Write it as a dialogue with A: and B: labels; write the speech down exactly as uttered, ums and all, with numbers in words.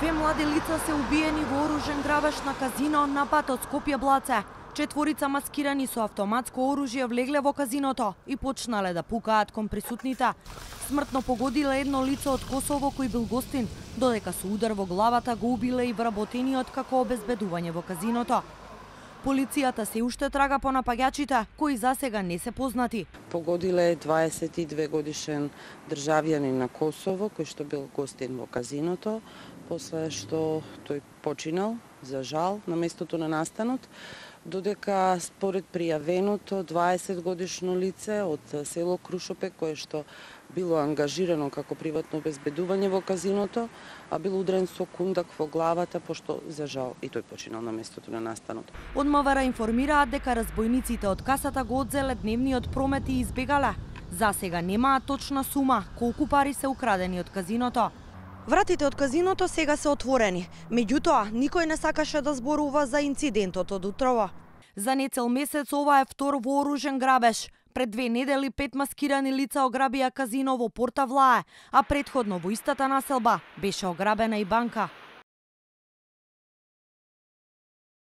A: Две млади лица се убиени во оружен грабеж на казино на патот Скопје-Блаце. Четворица маскирани со автоматско оружје влегле во казиното и почнале да пукаат кон присутните. Смртно погодиле едно лице од Косово кој бил гостин, додека со удар во главата го убиле и вработениот како обезбедување во казиното. Полицијата се уште трага по напаѓачите, кои засега не се познати.
B: Погодиле дваесет и две годишен државјанин на Косово, кој што бил гостин во казиното, после што тој починал, за жал, на местото на настанот, додека според пријавеното дваесет годишно лице од село Крушопек, кое што било ангажирано како приватно обезбедување во казиното, а бил удрен со кундак во главата, пошто за жал и тој починал на местото на настанот.
A: Од МВР информираат дека разбойниците од касата го одзеле дневниот промет и избегале. За сега немаат точна сума колку пари се украдени од казиното. Вратите од казиното сега се отворени, меѓутоа никој не сакаше да зборува за инцидентот од утрово. За нецел месец ова е втор вооружен грабеж. Пред две недели пет маскирани лица ограбија казино во Порта Влае, а претходно во истата населба беше ограбена и банка.